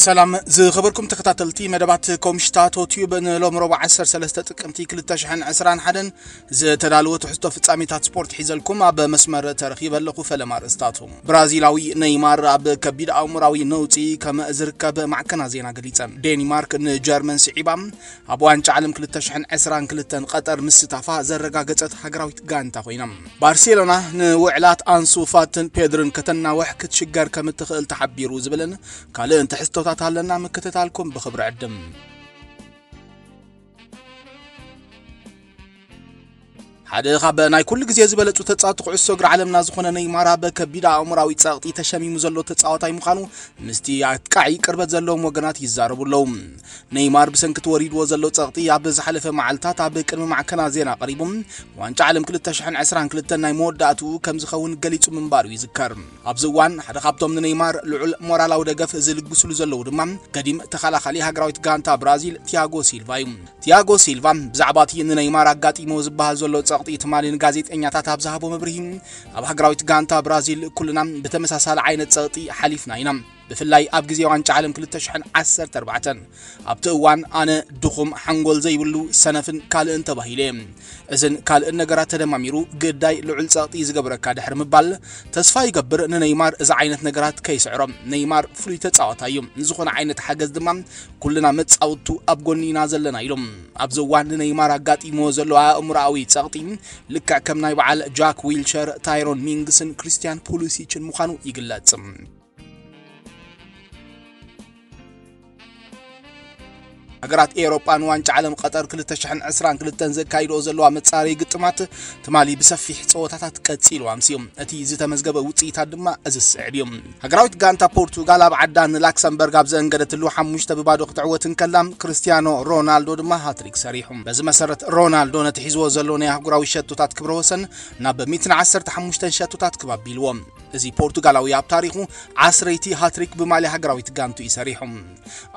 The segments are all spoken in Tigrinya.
ሰላም ዝኸበርኩም ተኸታተልቲ መደባት ኮምሽታቶ ቲዩብ፣ ንሎም ረቡዕ ዓሰርተ ሰለስተ ጥቅምቲ ክልተ ሽሕን ዕስራን ሓደን ዝተዳለወ ትሕዝቶ ፍጻሜታት ስፖርት ሒዘልኩም ኣብ መስመር ተረኺበ ኣለኹ። ፈለማ ኣርእስታቱ። ብራዚላዊ ኔይማር ኣብ ከቢድ ኣእምራዊ ነውጺ ከም ዝርከብ ማዕከና ዜና ገሊጸን። ዴንማርክ ንጀርመን ስዒባ ኣብ ዋንጫ ዓለም ክልተ ሽሕን ዕስራን ክልተን ቀጠር ምስታፋ ዘረጋገጸት ሃገራዊት ጋንታ ኮይና። ባርሴሎና ንውዕላት ኣንሱ ፋትን ፔድርን ከተናውሕ ክትሽገር ከም እትኽእል ተሓቢሩ ዝብልን ካልእን ትሕዝቶታት ኣለና። ምክትታልኩም ብኽብሪ ዕድም። ሓደ ካብ ናይ ኩሉ ግዜ ዝበለጹ ተጻወቲ ኩዕሶ እግሪ ዓለምና ዝኾነ ኔይማር ኣብ ከቢድ ኣእምራዊ ጸቕጢ ተሸሚሙ ዘሎ ተጻዋታይ ምዃኑ ምስቲ ኣጥቃዒ ቅርበት ዘለዎም ወገናት ይዛረቡ ኣለዉ። ኔይማር ብሰንኪ እቲ ወሪድዎ ዘሎ ጸቕጢ ኣብ ዝሓለፈ መዓልታት ኣብ ቅድሚ ማዕከና ዜና ቀሪቡ፣ ዋንጫ ዓለም ክልተ ሽሕን ዕስራን ክልተን ናይ መወዳእትኡ ከም ዝኸውን ገሊጹ ምንባሩ ይዝከር። ኣብዚ እዋን ሓደ ካብቶም ንኔይማር ልዑል ሞራላዊ ደገፍ ዝልግስሉ ዘለዉ ድማ ገዲም ተኸላኻሊ ሃገራዊት ጋንታ ብራዚል ቲያጎ ሲልቫ እዩ። ቲያጎ ሲልቫ ብዛዕባ እቲ ንኔይማር ኣጋጢሞ ዝበሃል ዘሎ ጸቕጢ ትማሊ ንጋዜጠኛታት ኣብ ዝሃቦ መብርሂ፣ ኣብ ሃገራዊት ጋንታ ብራዚል ኩልና ብተመሳሳሊ ዓይነት ጸቕጢ ሓሊፍና ኢና። ብፍላይ ኣብ ግዜ ዋንጫ ዓለም ክልተ ሽሕን ዓሰርተ ኣርባዕተን ኣብቲ እዋን ኣነ ድኹም፣ ሓንጎል ዘይብሉ፣ ሰነፍን ካልእን ተባሂለ። እዝን ካልእን ነገራት ተደማሚሩ ግዳይ ልዑል ጸቕጢ ዝገብረካ ድሕሪ ምባል፣ ተስፋ ይገብር ንነይማር እዚ ዓይነት ነገራት ከይስዕሮ። ነይማር ፍሉይ ተጻዋታይ እዩ። ንዝኾነ ዓይነት ሓገዝ ድማ ኩልና መጻውቱ ኣብ ጎኒ ኢና ዘለና ኢሎም። ኣብዚ እዋን ንነይማር ኣጋጢሞ ዘሎ ኣእምሮኣዊ ጸቕጢ ልክዕ ከም ናይ በዓል ጃክ ዊልቸር፣ ታይሮን ሚንግስን ክሪስቲያን ፑሊሲችን ምዃኑ ይግለጽ። ሃገራት ኤውሮጳ ንዋንጫ ዓለም ቀጠር ክልተ ሽሕን ዕስራን ክልተን ዘካይድኦ ዘለዋ መጻረዪ ግጥማት ትማሊ ብሰፊሕ ጸወታታት ቀጺሉ ኣምስዩ። እቲ ዝተመዝገበ ውጽኢታት ድማ እዚ ዝስዕብ እዩ። ሃገራዊት ጋንታ ፖርቱጋል ኣብ ዓዳ ንላክሰምበርግ ኣብ ዘእንገደትሉ ሓሙሽተ ብባዶ ክትዕወት እንከላ፣ ክርስቲያኖ ሮናልዶ ድማ ሃትሪክ ሰሪሑ። በዚ መሰረት ሮናልዶ ነቲ ሒዝዎ ዘሎ ናይ ኣህጉራዊ ሸቶታት ክብረ ወሰን ናብ ሚእትን ዓሰርተ ሓሙሽተን ሸቶታት ክብ ኣቢልዎ። እዚ ፖርቱጋላዊ ኣብ ታሪኹ ዓስረይቲ ሃትሪክ ብማልያ ሃገራዊት ጋንቱ እዩ ሰሪሑ።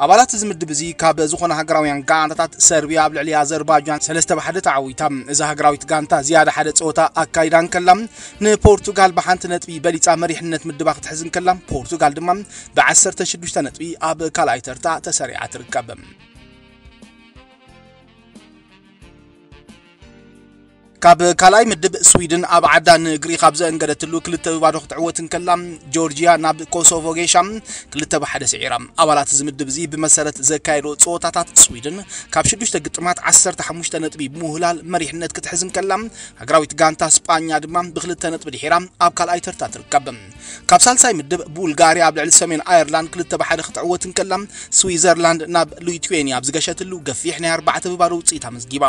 ኣባላት እዚ ምድብ እዚ ካብ ዝኾነ ሃገራውያን ጋንታታት ሰርቢያ ኣብ ልዕሊ ኣዘርባጃን ሰለስተ ብሓደ ተዓዊታ። እዛ ሃገራዊት ጋንታ ዝያዳ ሓደ ጸወታ ኣካይዳ እንከላ፣ ንፖርቱጋል ብሓንቲ ነጥቢ በሊጻ መሪሕነት ምድባ ክትሕዝ እንከላ፣ ፖርቱጋል ድማ ብዓሰርተ ሽዱሽተ ነጥቢ ኣብ ካልኣይ ተርታ ተሰሪዓ ትርከብ። ካብ ካልኣይ ምድብ ስዊድን ኣብ ዓዳ ንግሪኽ ኣብ ዘእንገደትሉ ክልተ ብባዶ ክትዕወት እንከላ፣ ጆርጂያ ናብ ኮሶቮ ጌሻ ክልተ ብሓደ ስዒራ። ኣባላት እዚ ምድብ እዚ ብመሰረት ዘካየዶ ጸወታታት ስዊድን ካብ ሽዱሽተ ግጥማት ዓሰርተ ሓሙሽተ ነጥቢ ብምውህላል መሪሕነት ክትሕዝ እንከላ፣ ሃገራዊት ጋንታ ስጳኛ ድማ ብክልተ ነጥቢ ድሒራ ኣብ ካልኣይ ተርታ ትርከብ። ካብ ሳልሳይ ምድብ ቡልጋርያ ኣብ ልዕሊ ሰሜን ኣየርላንድ ክልተ ብሓደ ክትዕወት እንከላ፣ ስዊዘርላንድ ናብ ሊትዌንያ ኣብ ዝገሸትሉ ገፊሕ ናይ ኣርባዕተ ብባዶ ውጽኢት ኣመዝጊባ።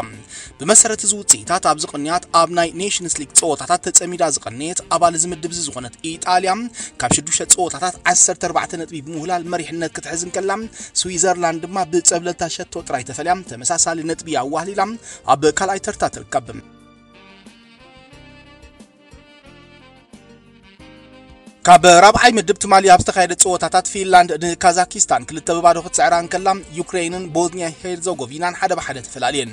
ብመሰረት እዚ ውጽኢታት ኣብዚ ቅንያት ኣብ ናይ ኔሽንስ ሊግ ጸወታታት ተጸሚዳ ዝቐነየት ኣባል እዚ ምድብ እዚ ዝኾነት ኢጣልያ ካብ ሽዱሽተ ጸወታታት ዓሰርተ ኣርባዕተ ነጥቢ ብምውህላል መሪሕነት ክትሕዝ እንከላ፣ ስዊዘርላንድ ድማ ብጸብለልታ ሸቶ ጥራይ ተፈልያ ተመሳሳሊ ነጥቢ ኣዋህሊላ ኣብ ካልኣይ ተርታ ትርከብ። ካብ ራብዓይ ምድብ ትማሊ ኣብ ዝተኻየደ ጸወታታት ፊንላንድ ንካዛኪስታን ክልተ ብባዶ ክትስዕራ እንከላ፣ ዩክሬንን ቦዝኒያ ሄርዞጎቪናን ሓደ ብሓደ ተፈላልየን።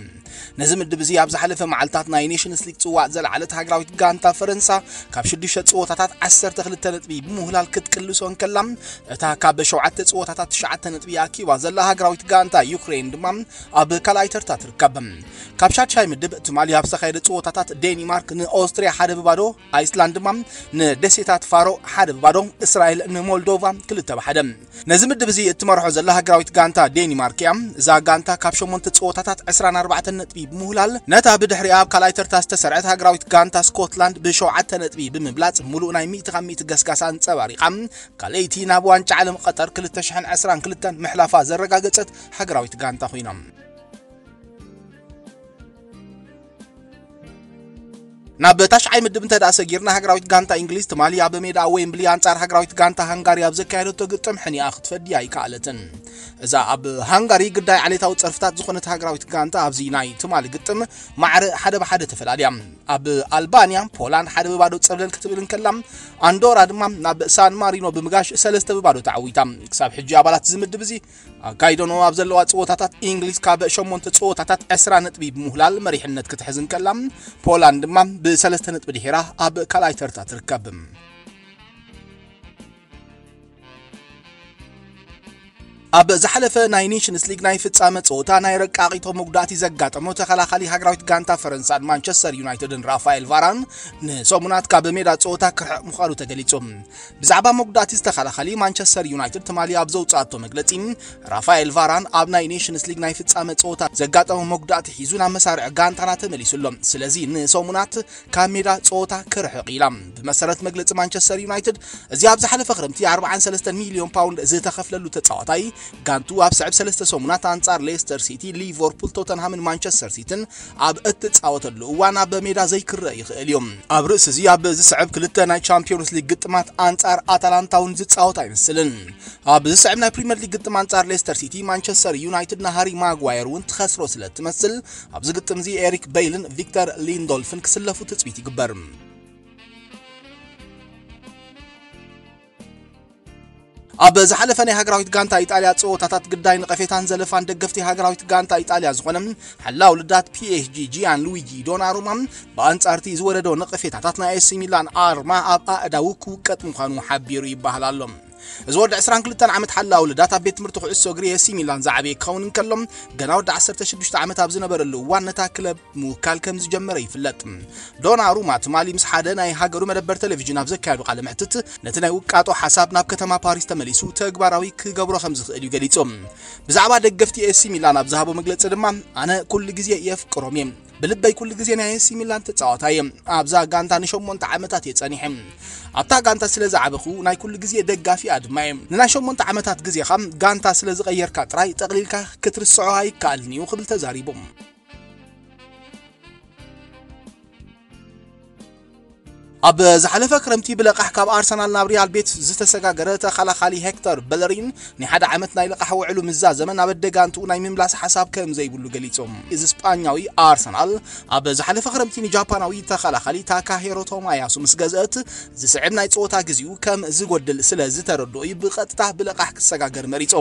ነዚ ምድብ እዚ ኣብ ዝሓለፈ መዓልታት ናይ ኔሽንስ ሊግ ጽዋዕ ዘለዓለት ሃገራዊት ጋንታ ፈረንሳ ካብ ሽዱሽተ ጸወታታት ዓሰርተ ክልተ ነጥቢ ብምውህላል ክትቅልሶ እንከላ፣ እታ ካብ ሸውዓተ ጸወታታት ትሽዓተ ነጥቢ ኣኪባ ዘላ ሃገራዊት ጋንታ ዩክሬን ድማ ኣብ ካልኣይ ተርታ ትርከብ። ካብ ሻድሻይ ምድብ ትማሊ ኣብ ዝተኻየደ ጸወታታት ዴኒማርክ ንኦስትሪያ ሓደ ብባዶ፣ ኣይስላንድ ድማ ንደሴታት ፋሮ ሓደ ብባዶ፣ እስራኤል ንሞልዶቫ ክልተ ብሓደ። ነዚ ምድብ እዚ እትመርሖ ዘላ ሃገራዊት ጋንታ ዴኒማርክ እያ። እዛ ጋንታ ካብ ሸሞንተ ጸወታታት ዕስራን ኣርባዕተን ነጥቢ ብምውህላል፣ ነታ ብድሕሪኣ ኣብ ካልኣይ ተርታ ዝተሰርዐት ሃገራዊት ጋንታ ስኮትላንድ ብሸውዓተ ነጥቢ ብምብላጽ፣ ሙሉእ ናይ ሚእቲ ካብ ሚእቲ ገስጋስ ኣንጸባሪቓ፣ ካልኣይቲ ናብ ዋንጫ ዓለም ቀጠር ክልተ ሽሕን ዕስራን ክልተን ምሕላፋ ዘረጋገጸት ሃገራዊት ጋንታ ኮይና። ናብ ታሽዓይ ምድብ እንተ ደኣ ሰጊርና፣ ሃገራዊት ጋንታ እንግሊዝ ትማሊ ኣብ ሜዳ ዌምብሊ ኣንጻር ሃገራዊት ጋንታ ሃንጋሪ ኣብ ዘካየደቶ ግጥም ሕኒኣ ክትፈዲ ኣይከኣለትን። እዛ ኣብ ሃንጋሪ ግዳይ ዓሌታዊ ጸርፍታት ዝኾነት ሃገራዊት ጋንታ ኣብዚ ናይ ትማሊ ግጥም ማዕረ ሓደ ብሓደ ተፈላልያ። ኣብ ኣልባንያ ፖላንድ ሓደ ብባዶ ጸብለል ክትብል እንከላ፣ ኣንዶራ ድማ ናብ ሳን ማሪኖ ብምጋሽ ሰለስተ ብባዶ ተዓዊታ። ክሳብ ሕጂ ኣባላት እዚ ምድብ እዚ ኣካይደንኦ ኣብ ዘለዋ ጸወታታት፣ እንግሊዝ ካብ ሸሞንተ ጸወታታት ዕስራ ነጥቢ ብምውህላል መሪሕነት ክትሕዝ እንከላ፣ ፖላንድ ድማ ብሰለስተ ነጥቢ ድሒራ ኣብ ካልኣይ ተርታ ትርከብ። ኣብ ዝሓለፈ ናይ ኔሽንስ ሊግ ናይ ፍጻመ ጸወታ ናይ ረቃቒቶ መጉዳእቲ ዘጋጠሞ ተኸላኻሊ ሃገራዊት ጋንታ ፈረንሳን ማንቸስተር ዩናይትድን ራፋኤል ቫራን ንሰሙናት ካብ ሜዳ ጸወታ ክርሕቕ ምዃኑ ተገሊጹ። ብዛዕባ መጉዳእቲ ዝተኸላኻሊ ማንቸስተር ዩናይትድ ትማሊ ኣብ ዘውጻእቶ መግለጺ፣ ራፋኤል ቫራን ኣብ ናይ ኔሽንስ ሊግ ናይ ፍጻመ ጸወታ ዘጋጠሞ መጉዳእቲ ሒዙ ናብ መሳርዕ ጋንታና ተመሊሱ ኣሎ። ስለዚ ንሰሙናት ካብ ሜዳ ጸወታ ክርሕቕ ኢላ። ብመሰረት መግለጺ ማንቸስተር ዩናይትድ፣ እዚ ኣብ ዝሓለፈ ክረምቲ ኣርባዓን ሰለስተን ሚልዮን ፓውንድ ዝተኸፍለሉ ተጻዋታይ፣ ጋንቱ ኣብ ስዕብ ሰለስተ ሰሙናት ኣንጻር ሌስተር ሲቲ፣ ሊቨርፑል፣ ቶተንሃምን ማንቸስተር ሲቲን ኣብ እትጻወተሉ እዋን ኣብ ሜዳ ዘይክረአ ይኽእል እዩ። ኣብ ርእሲ እዚ፣ ኣብ ዝስዕብ ክልተ ናይ ቻምፒዮንስ ሊግ ግጥማት ኣንጻር ኣታላንታ እውን ዝጻወት ኣይመስልን። ኣብ ዝስዕብ ናይ ፕሪምየር ሊግ ግጥም ኣንጻር ሌስተር ሲቲ፣ ማንቸስተር ዩናይትድ ንሃሪ ማጓየር እውን ትኸስሮ ስለ እትመስል፣ ኣብዚ ግጥም እዚ ኤሪክ በይልን ቪክተር ሊንዶልፍን ክስለፉ ትጽቢት ይግበር። ኣብ ዝሓለፈ ናይ ሃገራዊት ጋንታ ኢጣልያ ጸወታታት ግዳይ ነቐፌታን ዘለፋን ደገፍቲ ሃገራዊት ጋንታ ኢጣልያ ዝኾነ ሓላው ልዳት ፒኤስጂ ጂያን ሉዊጂ ዶናሩማ፣ ብኣንጻርቲ ዝወረዶ ነቐፌታታት ናይ ኤሲ ሚላን ኣርማ ኣብ ኣእዳዉ ክውቀጥ ምዃኑ ሓቢሩ ይበሃል ኣሎ። እዚ ወዲ ዕስራን ክልተን ዓመት ሓላው ልዳት ኣብ ቤት ትምህርቲ ኩዕሶ እግሪ ኤሲ ሚላን ዝዓበየ ክኸውን እንከሎ፣ ገና ወዲ ዓሰርተ ሽዱሽተ ዓመት ኣብ ዝነበረሉ እዋን ነታ ክለብ ምውካል ከም ዝጀመረ ይፍለጥ። ዶናሩማ ትማሊ ምስ ሓደ ናይ ሃገሩ መደበር ቴሌቪዥን ኣብ ዘካየዱ ቃለ መሕትት፣ ነቲ ናይ ውቃጦ ሓሳብ ናብ ከተማ ፓሪስ ተመሊሱ ተግባራዊ ክገብሮ ከም ዝኽእል እዩ ገሊጹ። ብዛዕባ ደገፍቲ ኤሲ ሚላን ኣብ ዝሃቦ መግለጺ ድማ፣ ኣነ ኩሉ ግዜ የፍቅሮም እየ። ብልበይ ኩሉ ግዜ ናይ ኤሲ ሚላን ተጻዋታይ እየ። ኣብዛ ጋንታ ንሸሞንተ ዓመታት እየ ጸኒሐ። ኣብታ ጋንታ ስለ ዝዓበኹ ናይ ኩሉ ግዜ ደጋፊኣ ድማ እየ። ንናይ ሸሞንተ ዓመታት ግዜኻ ጋንታ ስለ ዝቐየርካ ጥራይ ጠቕሊልካ ክትርስዖ ኣይከኣልን እዩ ክብል ተዛሪቡ። ኣብ ዝሓለፈ ክረምቲ ብለቓሕ ካብ ኣርሰናል ናብ ሪያል ቤት ዝተሰጋገረ ተኸላኻሊ ሄክተር በለሪን ናይ ሓደ ዓመት ናይ ልቓሕ ውዕሉ ምስ ዛዘመ ናብ ኣደጋንትኡ ናይ ምምላስ ሓሳብ ከም ዘይብሉ ገሊጹ። እዚ ስጳኛዊ ኣርሰናል ኣብ ዝሓለፈ ክረምቲ ንጃፓናዊ ተኸላኻሊ ታካሄሮ ቶማያሱ ምስ ገዝአት ዝስዕብ ናይ ጸወታ ግዜኡ ከም ዝጎድል ስለ ዝተረድኦ እዩ ብቐጥታ ብለቓሕ ክሰጋገር መሪጹ።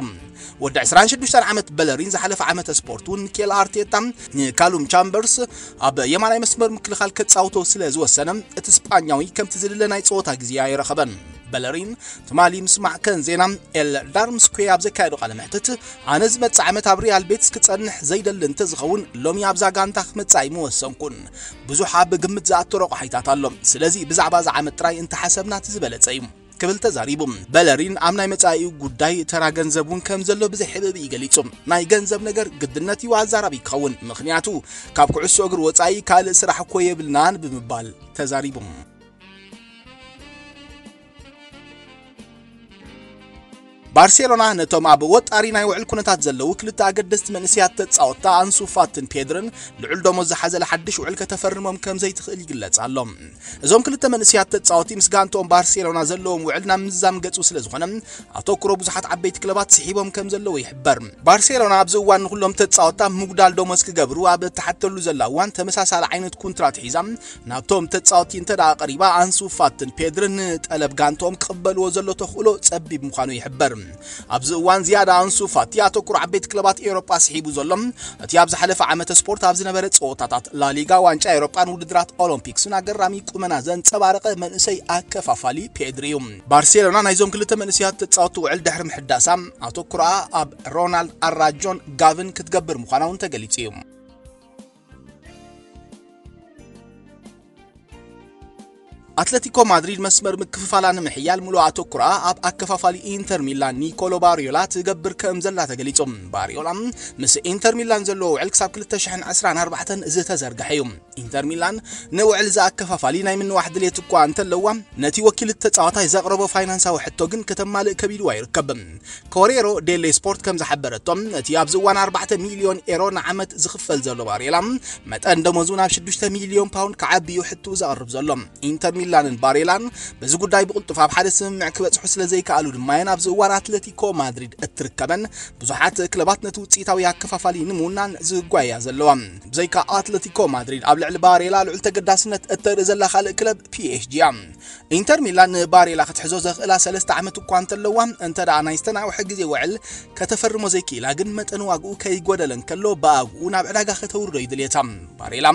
ወዲ ዕስራን ሽዱሽተን ዓመት በለሪን ዝሓለፈ ዓመተ ስፖርት እውን ሚኬል ኣርቴታ ንካሉም ቻምበርስ ኣብ የማናይ መስመር ምክልኻል ከጻውቶ ስለ ዝወሰነ፣ እቲ ስጳኛዊ ከምቲ ዝድለ ናይ ጸወታ ግዜ ኣይረኸበን። በለሪን ትማሊ ምስ ማዕከን ዜና ኤል ዳርምስኩዌ ኣብ ዘካየዶ ቃለ መሕትት፣ ኣነ ዝመጽእ ዓመት ኣብ ሪያል ቤትስ ክጸንሕ ዘይደሊ እንተዝኸውን፣ ሎሚ ኣብዛ ጋንታ ክመጽእ ኣይምወሰንኩን። ብዙሕ ኣብ ግምት ዝኣቱ ረቑሓይታት ኣሎ። ስለዚ ብዛዕባ እዚ ዓመት ጥራይ እንተሓሰብና እቲ ዝበለጸ እዩ ክብል ተዛሪቡ። በለሪን ኣብ ናይ መጻኢኡ ጉዳይ ተራ ገንዘብ እውን ከም ዘሎ ብዘይ ሕብእብኢ ገሊጹ። ናይ ገንዘብ ነገር ግድነት እዩ ኣዛራቢ ክኸውን፣ ምኽንያቱ ካብ ኩዕሶ እግሪ ወጻኢ ካልእ ስራሕ እኮ የብልናን ብምባል ተዛሪቡ። ባርሴሎና ነቶም ኣብ ወጣሪ ናይ ውዕል ኩነታት ዘለዉ ክልተ ኣገደስቲ መንእሰያት ተጻወትታ ኣንሱ ፋትን ፔድርን ልዑል ደሞዝ ዝሓዘለ ሓድሽ ውዕል ከተፈርሞም ከም ዘይትኽእል ይግለጽ ኣሎ። እዞም ክልተ መንእሰያት ተጻወቲ ምስ ጋንትኦም ባርሴሎና ዘለዎም ውዕል ናብ ምዝዛም ገጹ ስለ ዝኾነ፣ ኣተኩሮ ብዙሓት ዓበይቲ ክለባት ስሒቦም ከም ዘለዉ ይሕበር። ባርሴሎና ኣብዚ እዋን ንኹሎም ተጻወትታ ምጉዳል ደሞዝ ክገብሩ ኣብ እትሓተሉ ዘላ እዋን፣ ተመሳሳሊ ዓይነት ኩንትራት ሒዛ ናብቶም ተጻወቲ እንተ ደኣ ቀሪባ፣ ኣንሱ ፋትን ፔድርን ንጠለብ ጋንትኦም ክቕበልዎ ዘሎ ተኽእሎ ጸቢብ ምዃኑ ይሕበር። ኣብዚ እዋን ዝያዳ ኣንሱ ፋቲ ኣተኩሮ ዓበይቲ ክለባት ኤውሮጳ ስሒቡ ዘሎ፣ እቲ ኣብ ዝሓለፈ ዓመተ ስፖርት ኣብ ዝነበረ ጸወታታት ላሊጋ፣ ዋንጫ ኤውሮጳን ውድድራት ኦሎምፒክስን ኣገራሚ ቁመና ዘንጸባረቐ መንእሰይ ኣከፋፋሊ ፔድሪ እዩ። ባርሴሎና ናይዞም ክልተ መንእሰያት ተጻወትቲ ውዕል ድሕሪ ምሕዳሳ፣ ኣተኩሮኣ ኣብ ሮናልድ ኣራጆን ጋቪን ክትገብር ምዃና እውን ተገሊጹ እዩ። ኣትለቲኮ ማድሪድ መስመር ምክፍፋላ ንምሕያል ምሉእ ኣተኩሮኣ ኣብ ኣከፋፋሊ ኢንተር ሚላን ኒኮሎ ባሪዮላ ትገብር ከም ዘላ ተገሊጹ። ባሪዮላ ምስ ኢንተር ሚላን ዘለዎ ውዕል ክሳብ ክልተ ሽሕን ዕስራን ኣርባዕተን ዝተዘርግሐ እዩ። ኢንተር ሚላን ንውዕል እዚ ኣከፋፋሊ ናይ ምንዋሕ ድሌት እኳ እንተለዋ፣ ነቲ ወኪል እቲ ተጻዋታይ ዘቕረቦ ፋይናንሳዊ ሕቶ ግን ከተማልእ ከቢድዋ ይርከብ። ኮሬሮ ዴሌ ስፖርት ከም ዝሓበረቶ፣ እቲ ኣብዚ እዋን ኣርባዕተ ሚልዮን ኤሮ ንዓመት ዝኽፈል ዘሎ ባሬላ፣ መጠን ደሞዙ ናብ ሽዱሽተ ሚልዮን ፓውንድ ክዓቢ እዩ ሕትኡ ዘቕርብ ዘሎ። ኢንተር ሚላንን ባሬላን በዚ ጉዳይ ብቕልጡፍ ኣብ ሓደ ስምምዕ ክበጽሑ ስለ ዘይከኣሉ ድማ እየን ኣብዚ እዋን ኣትለቲኮ ማድሪድ እትርከበን ብዙሓት ክለባት ነቲ ውጽኢታዊ ኣከፋፋሊ ንምውናን ዝጓያ ዘለዋ። ብዘይካ ኣትለቲኮ ማድሪድ ኣብ ልዕሊ ባሬላ ልዑል ተገዳስነት እተርኢ ዘላ ካልእ ክለብ ፒኤስጂ እያ። ኢንተር ሚላን ንባሬላ ክትሕዞ ዘኽእላ ሰለስተ ዓመት እኳ እንተለዋ፣ እንተ ደኣ ናይ ዝተናውሐ ግዜ ውዕል ከተፈርሞ ዘይክኢላ ግን፣ መጠን ዋግኡ ከይጎደለ እንከሎ ብኣግኡ ናብ ዕዳጋ ከተውርዶ እዩ ድልየታ። ባሬላ፣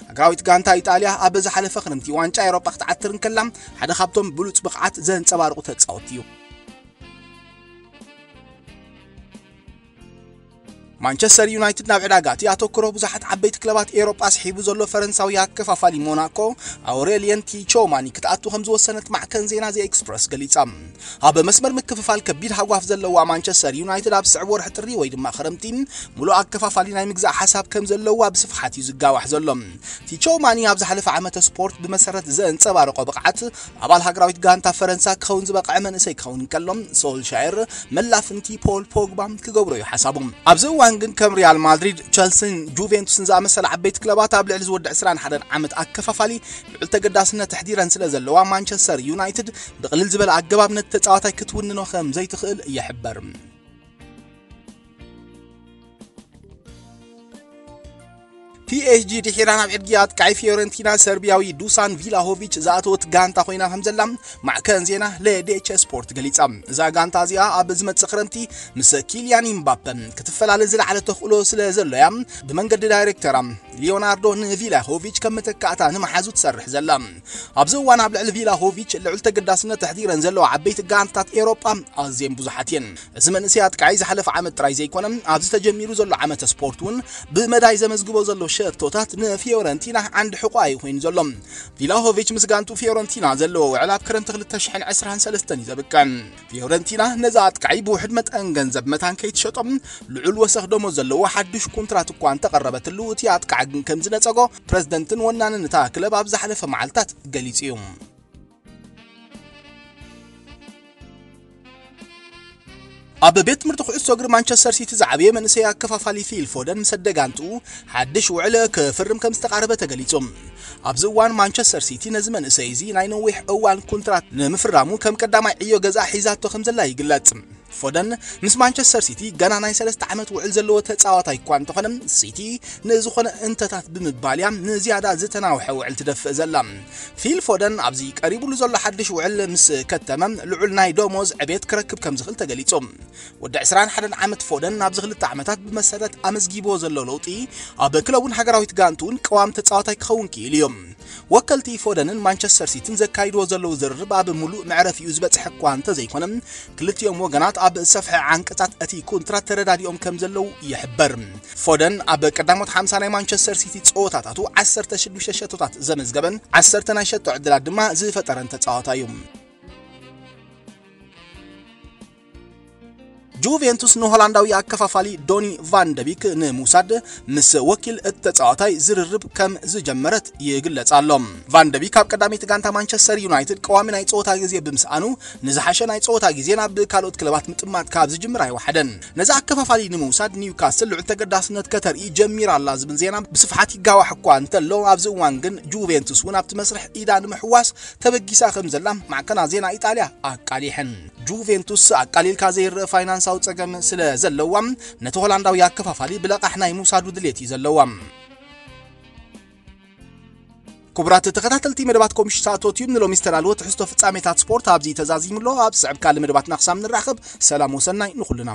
ሃገራዊት ጋንታ ኢጣልያ ኣብ ዝሓለፈ ክረምቲ ዋንጫ ኤውሮጳ ክትዓትር እንከላ፣ ሓደ ካብቶም ብሉጽ ብቕዓት ዘንጸባርቑ ተጻወትቲ እዩ። ማንቸስተር ዩናይትድ ናብ ዕዳጋ እቲ ኣተኩሮ ብዙሓት ዓበይቲ ክለባት ኤውሮጳ ስሒቡ ዘሎ ፈረንሳዊ ኣከፋፋሊ ሞናኮ ኣውሬልየን ቲቾማኒ ክትኣቱ ከም ዝወሰነት ማዕከን ዜና ዘ ኤክስፕረስ ገሊጻ። ኣብ መስመር ምክፍፋል ከቢድ ሃጓፍ ዘለዋ ማንቸስተር ዩናይትድ ኣብ ስዕብ ወርሒ ጥሪ ወይ ድማ ክረምቲ ሙሉእ ኣከፋፋሊ ናይ ምግዛእ ሓሳብ ከም ዘለዋ ብስፍሓት እዩ ዝጋዋሕ ዘሎ። ቲቾማኒ ኣብ ዝሓለፈ ዓመተ ስፖርት ብመሰረት ዘንጸባረቆ ብቕዓት ኣባል ሃገራዊት ጋንታ ፈረንሳ ክኸውን ዝበቕዐ መንእሰይ ክኸውን እንከሎ፣ ሶልሻየር መላፍንቲ ፖል ፖግባ ክገብሮ እዩ ሓሳቡ። ኣብዚ እዋን ግን ከም ሪያል ማድሪድ፣ ቸልሲን ጁቬንቱስን ዝኣመሰለ ዓበይቲ ክለባት ኣብ ልዕሊ ዝወድዕ ዕስራን ሓደን ዓመት ኣከፋፋሊ ልዑል ተገዳስነት ኣሕዲረን ስለ ዘለዋ፣ ማንቸስተር ዩናይትድ ብቕልል ዝበለ ኣገባብ ነቲ ተጻዋታይ ክትውንኖ ከም ዘይትኽእል ይሕበር። ፒኤስጂ ድሒራ ናብ ዕድጊ ኣጥቃዒ ፊዮረንቲና ሰርቢያዊ ዱሳን ቪላሆቪች ዝኣተወት ጋንታ ኮይና ከም ዘላ ማዕከን ዜና ለዴቸ ስፖርት ገሊጻ። እዛ ጋንታ እዚኣ ኣብ ዝመጽእ ክረምቲ ምስ ኪልያን ኢምባፐ ክትፈላለ ዝለዓለ ተኽእሎ ስለ ዘሎያ ብመንገዲ ዳይሬክተራ ሊዮናርዶ ንቪላሆቪች ከም መተካእታ ንመሓዙ ትሰርሕ ዘላ። ኣብዚ እዋን ኣብ ልዕሊ ቪላሆቪች ልዑል ተገዳስነት ኣሕዲረን ዘለዋ ዓበይቲ ጋንታት ኤውሮጳ ኣዝየን ብዙሓት እየን። እዚ መንእሰይ ኣጥቃዒ ዝሓለፈ ዓመት ጥራይ ዘይኮነ፣ ኣብዚ ተጀሚሩ ዘሎ ዓመተ ስፖርት እውን ብመዳይ ዘመዝግቦ ዘሎ ሸቶታት ንፊዮረንቲና ዓንዲ ሕቆኣ እዩ ኮይኑ ዘሎ። ቪላሆቪች ምስ ጋንቱ ፊዮረንቲና ዘለዎ ውዕል ኣብ ክረምቲ ክልተ ሽሕን ዕስራን ሰለስተን እዩ ዘብቅዕ። ፊዮረንቲና ነዚ ኣጥቃዒ ብውሕድ መጠን ገንዘብ መታን ከይትሸጦ፣ ልዑል ወሰኽ ደሞዝ ዘለዎ ሓድሽ ኮንትራት እኳ እንተቐረበትሉ፣ እቲ ኣጥቃዒ ግን ከም ዝነጸጎ ፕረዚደንትን ወናንን እታ ክለብ ኣብ ዝሓለፈ መዓልታት ገሊጹ እዩ። ኣብ ቤት ትምህርቲ ኩዕሶ እግሪ ማንቸስተር ሲቲ ዝዓበየ መንእሰይ ኣከፋፋሊ ፊል ፎደን ምስ ኣደጋንትኡ ሓድሽ ውዕል ክፍርም ከም ዝተቓረበ ተገሊጹ። ኣብዚ እዋን ማንቸስተር ሲቲ ነዚ መንእሰይ እዚ ናይ ነዊሕ እዋን ኮንትራት ንምፍራሙ ከም ቀዳማይ ዕዮ ገዛ ሒዛቶ ከም ዘላ ይግለጽ። ፎደን ምስ ማንቸስተር ሲቲ ገና ናይ ሰለስተ ዓመት ውዕል ዘለዎ ተጻዋታይ እኳ እንተኾነ፣ ሲቲ ንዝኾነ እንተታት ብምባል እያ ንዝያዳ ዝተናውሐ ውዕል ትደፍእ ዘላ። ፊል ፎደን ኣብዚ ቀሪቡሉ ዘሎ ሓድሽ ውዕል ምስ ከተመ፣ ልዑል ናይ ደሞዝ ዕቤት ክረክብ ከም ዝኽእል ተገሊጹ። ወዲ ዕስራን ሓደን ዓመት ፎደን ኣብዚ ክልተ ዓመታት ብመሰረት ኣመዝጊብዎ ዘሎ ለውጢ፣ ኣብ ክለቡን ሃገራዊት ጋንቱን ቀዋሚ ተጻዋታይ ክኸውን ክኢሉ እዩ። ወከልቲ ፎደንን ማንቸስተር ሲቲን ዘካይድዎ ዘለዉ ዝርርብ ኣብ ምሉእ መዕረፊኡ ዝበጽሐ እኳ እንተዘይኮነ፣ ክልቲኦም ወገናት ኣብ ዝሰፍሐ ዓንቀጻት እቲ ኮንትራት ተረዳዲኦም ከም ዘለዉ ይሕበር። ፎደን ኣብ ቀዳሞት ሓምሳ ናይ ማንቸስተር ሲቲ ጸወታታቱ ዓሰርተ ሽዱሽተ ሸቶታት ዘመዝገበን ዓሰርተ ናይ ሸቶ ዕድላት ድማ ዝፈጠረን ተጻዋታይ እዩ። ጁቬንቱስ ንሆላንዳዊ ኣከፋፋሊ ዶኒ ቫን ደቢክ ንምውሳድ ምስ ወኪል እቲ ተጻዋታይ ዝርርብ ከም ዝጀመረት ይግለጽ ኣሎ። ቫን ደቢክ ኣብ ቀዳመይቲ ጋንታ ማንቸስተር ዩናይትድ ቀዋሚ ናይ ጸወታ ግዜ ብምስኣኑ፣ ንዝሓሸ ናይ ጸወታ ግዜ ናብ ካልኦት ክለባት ምጥማት ካብ ዝጅምር ኣይወሓደን። ነዚ ኣከፋፋሊ ንምውሳድ ኒውካስል ልዑል ተገዳስነት ከተርኢ ጀሚራ ኣላ ዝብል ዜና ብስፍሓት ይጋዋሕ እኳ እንተሎ፣ ኣብዚ እዋን ግን ጁቬንቱስ እውን ኣብቲ መስርሕ ኢዳ ንምሕዋስ ተበጊሳ ከም ዘላ ማዕከናት ዜና ኢጣልያ ኣቃሊሐን። ጁቬንቱስ ኣቃሊልካ ዘይረአ ፋይናንሳዊ ጸገም ስለ ዘለዋ፣ ነቲ ሆላንዳዊ ኣከፋፋሊ ብለቓሕ ናይ ምውሳዱ ድሌት እዩ ዘለዋ። ክቡራት ተኸታተልቲ መደባት ኮምሽሳቶት እዩ፣ ንሎሚ ዝተዳለወ ትሕዝቶ ፍጻሜታት ስፖርት ኣብዚ ተዛዚሙ ኣሎ። ኣብ ዝስዕብ ካልእ መደባትና ክሳብ ንራኸብ፣ ሰላም ወሰናይ ንኹልና።